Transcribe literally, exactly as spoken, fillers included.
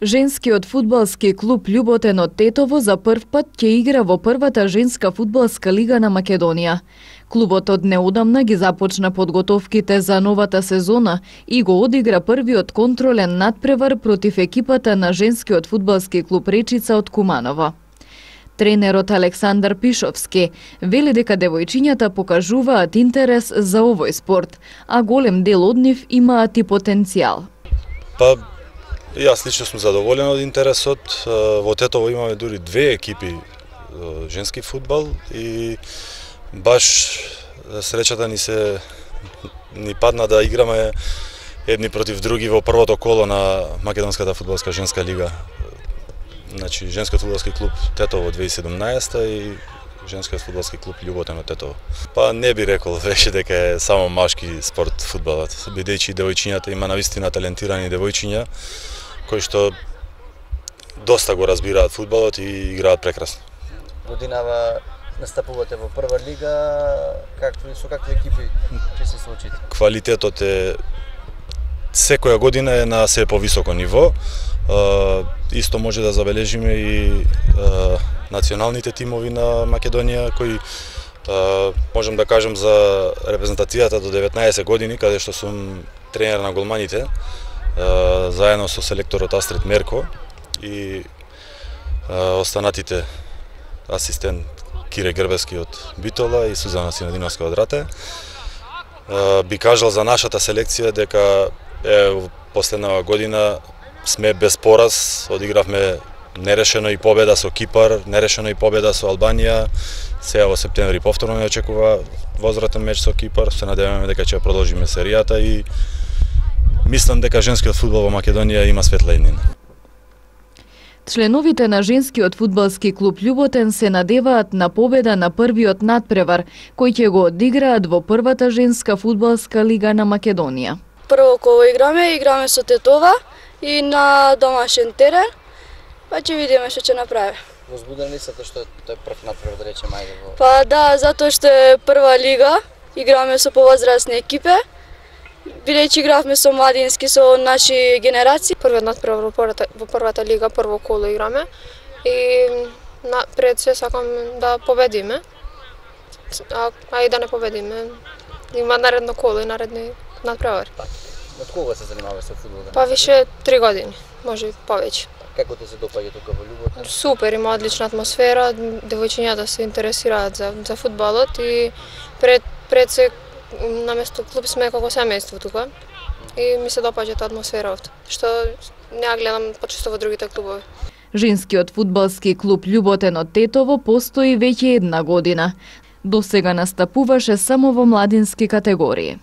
Женскиот фудбалски клуб Љуботен од Тетово за прв пат ќе игра во првата женска фудбалска лига на Македонија. Клубот од неодамна ги започна подготовките за новата сезона и го одигра првиот контролен надпревар против екипата на женскиот фудбалски клуб Речица од Куманово. Тренерот Александар Пишовски вели дека девојчињата покажуваат интерес за овој спорт, а голем дел од нив имаат и потенцијал. Па, јас лично сум задоволен од интересот. Во Тетово имаме дури две екипи женски фудбал и баш среќата ни се ни падна да играме едни против други во првото коло на Македонската фудбалска женска лига. Значи, женскиот фудбалски клуб Тетово две илјади и седумнаесета и женскиот фудбалски клуб Љуботен од Тетово. Па не би рекол веќе дека е само машки спорт фудбалот, бидејќи девојчињата има навистина талентирани девојчиња кои што доста го разбираат фудбалот и играат прекрасно. Годинава настапувате во прва лига, какви со какви екипи ќе се соочите? Квалитетот е секоја година е на се повисоко ниво. Uh, исто може да забележиме и uh, националните тимови на Македонија кои uh, можем да кажем за репрезентацијата до деветнаесет години, каде што сум тренер на голманите, uh, заедно со селекторот Астрид Мерко и uh, останатите асистент Кире Грбески од Битола и Сузана Синадиновска од Рате. Uh, би кажал за нашата селекција дека е последнава година сме без пораз, одигравме нерешено и победа со Кипар, нерешено и победа со Албанија. Сега во септември повторно не очекува возвратен меч со Кипар. Се надеваме дека ќе продолжиме серијата и мислам дека женскиот фудбал во Македонија има светла иднина. Членовите на женскиот фудбалски клуб Љуботен се надеваат на победа на првиот надпревар, кој ќе го одиграат во првата женска фудбалска лига на Македонија. Прво коло играме, играме со Тетова и на домашен терен, па ќе видиме што ќе направиме. Возбуден ли сте што тој прв надпревар да речеме ајде во? Па да, затоа што е прва лига, играме со повозрасни екипи, бидејќи игравме со младински, со наши генерации. Првиот надпревар во првата, во првата лига, прво коло играме и на, пред се сакам да победиме, а, а и да не победиме. Има наредно коло и наредни надпревари. Од кога се занимаваш со фудбал? Па више три години, може и повеќе. Како ти се допаѓа тука во Љуботен? Супер, има одлична атмосфера, девојчињата се интересираат за за фудбалот и пред пред се наместо клуб сме како семејство тука. И ми се допаѓа таа атмосфера овде, што не ја гледам почесто во другите клубови. Женскиот фудбалски клуб Љуботен од Тетово постои веќе една година. Досега настапуваше само во младински категории.